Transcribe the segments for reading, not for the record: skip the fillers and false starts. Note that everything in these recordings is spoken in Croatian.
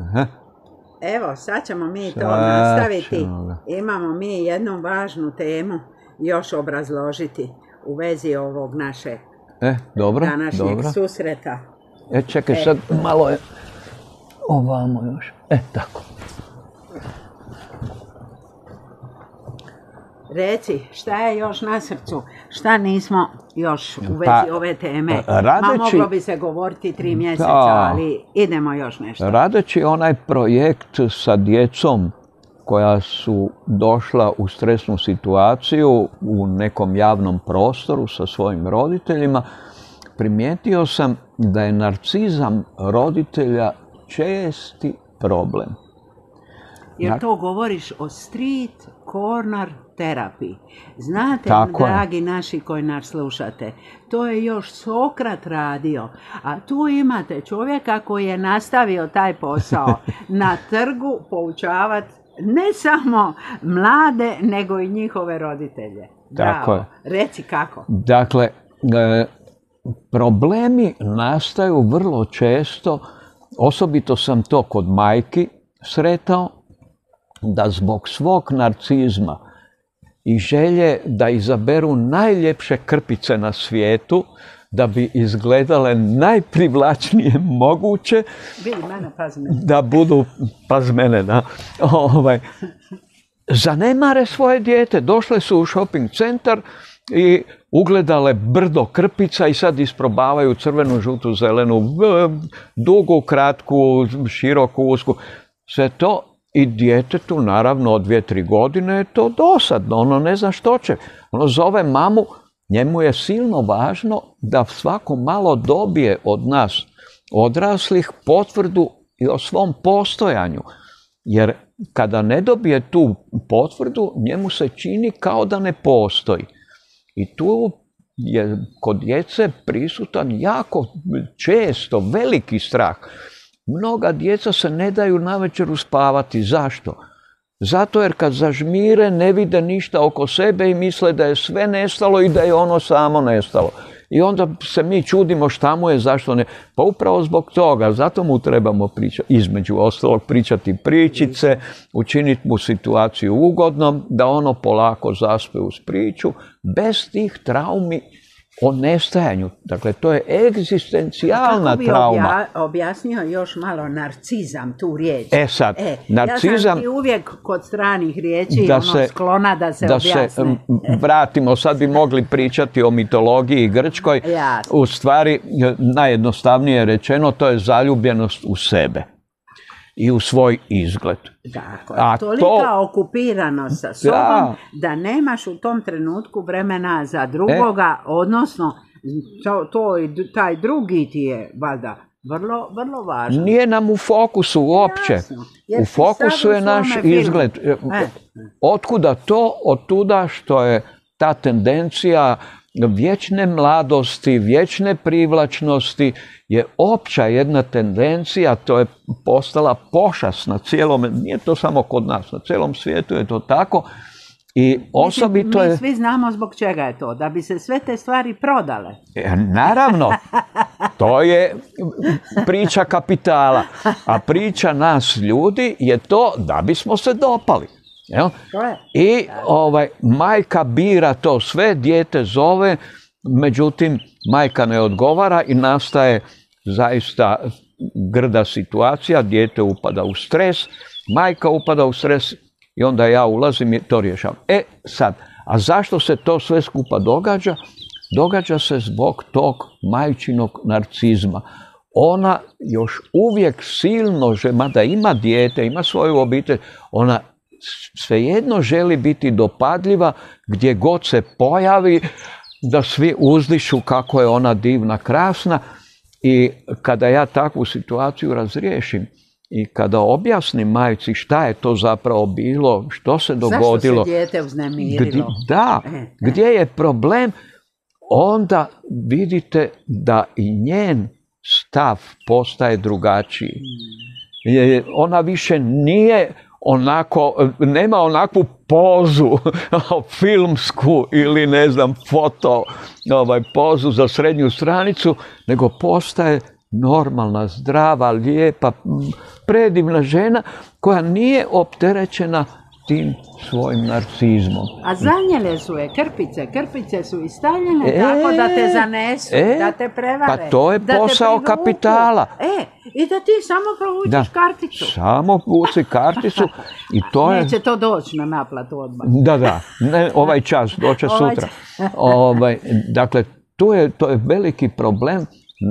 Aha. Evo, sad ćemo mi to nastaviti. Imamo mi jednu važnu temu još obrazložiti u vezi ovog našeg današnjeg susreta. Čekaj, sad malo je ovamo još. Tako. Reci, šta je još na srcu? Šta nismo još u vezi ove teme? Moglo bi se govoriti 3 mjeseca, ali idemo još nešto. Radeći onaj projekt sa djecom koja su došla u stresnu situaciju u nekom javnom prostoru sa svojim roditeljima, primijetio sam da je narcizam roditelja česti problem. Jer to govoriš o street corner terapiji. Znate, dragi naši koji nas slušate, to je još Sokrat radio, a tu imate čovjeka koji je nastavio taj posao na trgu poučavati ne samo mlade, nego i njihove roditelje. Bravo. Reci kako. Dakle, problemi nastaju vrlo često, osobito sam to kod majki sretao, da zbog svog narcizma i želje da izaberu najljepše krpice na svijetu, da bi izgledale najprivlačnije moguće, da budu, pazi mene, da, zanemare svoje dijete. Došle su u shopping centar i ugledale brdo krpica i sad isprobavaju crvenu, žutu, zelenu, dugu, kratku, široku, usku. Sve to. I djetetu, naravno, od 2-3 godine je to dosadno, ono ne zna što će. Ono zove mamu, njemu je silno važno da svako malo dobije od nas odraslih potvrdu i o svom postojanju. Jer kada ne dobije tu potvrdu, njemu se čini kao da ne postoji. I tu je kod djece prisutan jako često veliki strah. Mnoga djeca se ne daju navečer uspavati. Zašto? Zato jer kad zažmire ne vide ništa oko sebe i misle da je sve nestalo i da je ono samo nestalo. I onda se mi čudimo šta mu je, zašto ne. Pa upravo zbog toga, zato mu trebamo pričati, između ostalog pričati pričice, učiniti mu situaciju ugodnom, da ono polako zaspe uz priču, bez tih traumi o nestajanju. Dakle, to je egzistencijalna trauma. Kako bi objasnio još malo narcizam, tu riječ? Sad, narcizam... Ja sam ti uvijek kod stranih riječi sklona da se objasne. Da se vratimo, sad bi mogli pričati o mitologiji grčkoj. U stvari, najjednostavnije rečeno, to je zaljubljenost u sebe i u svoj izgled. Dakle, tolika okupiranost sa sobom da nemaš u tom trenutku vremena za drugoga, odnosno taj drugi ti je valjda vrlo važno. Nije nam u fokusu uopće. U fokusu je naš izgled. Otkuda to? Otuda što je ta tendencija vječne mladosti, vječne privlačnosti je opća jedna tendencija, to je postala pošast na cijelom, nije to samo kod nas, na cijelom svijetu je to tako. I osobito mi svi znamo zbog čega je to, da bi se sve te stvari prodale. Naravno, to je priča kapitala, a priča nas ljudi je to da bismo se dopali. I majka bira to sve, dijete zove, međutim majka ne odgovara i nastaje zaista grda situacija, dijete upada u stres, majka upada u stres i onda ja ulazim i to rješavam. Sad, a zašto se to sve skupa događa? Događa se zbog tog majčinog narcizma. Ona još uvijek silno, mada ima dijete, ima svoju obitelj, ona svejedno želi biti dopadljiva gdje god se pojavi, da svi uzdišu kako je ona divna, krasna. I kada ja takvu situaciju razriješim i kada objasnim majci šta je to zapravo bilo, što se dogodilo, zašto se dijete uznemirilo, gdje je problem, onda vidite da i njen stav postaje drugačiji. Ona više nije onako, nema onakvu pozu filmsku ili ne znam foto pozu za srednju stranicu, nego postaje normalna, zdrava, lijepa, predivna žena koja nije opterećena tim svojim narcizmom. A zanijele su je krpice su istavljene tako da te zanesu, da te prevare. Pa to je posao kapitala. I da ti samo provučiš karticu. Samo vuci karticu i to je... Neće to doći na naplatu odmah. Da, ne ovaj čas, doće sutra. Dakle, to je veliki problem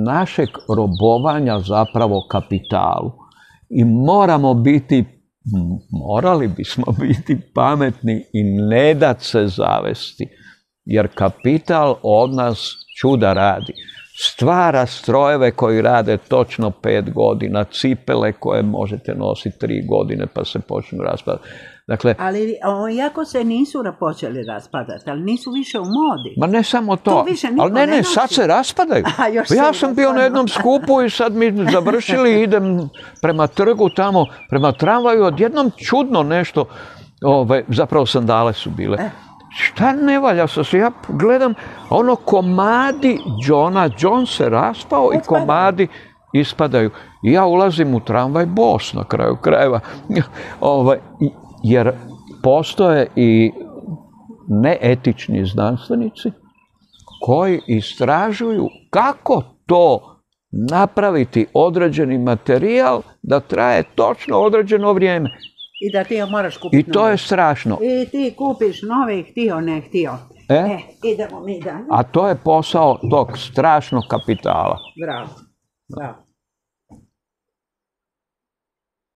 našeg robovanja zapravo kapitalu. I morali bismo biti pametni i ne dat se zavesti. Jer kapital od nas čuda radi. Stvara strojeve koji rade točno 5 godina, cipele koje možete nositi 3 godine pa se počnu raspadati. Dakle, ali iako se nisu počeli raspadati, ali nisu više u modi. Ma ne samo to, ali ne, sad se raspadaju. Ja sam bio na jednom skupu i sad mi završili, idem prema trgu tamo, prema tramvaju, odjednom čudno nešto, zapravo sandale su bile. Šta ne valja se, ja gledam, komadi John se raspao i komadi ispadaju. I ja ulazim u tramvaj bos na kraju krajeva. Jer postoje i neetični znanstvenici koji istražuju kako to napraviti određeni materijal da traje točno određeno vrijeme. I da ti moraš kupiti. I to je strašno. I ti kupiš nove, htio, ne htio. Idemo mi dalje. A to je posao tog strašnog kapitala. Bravo.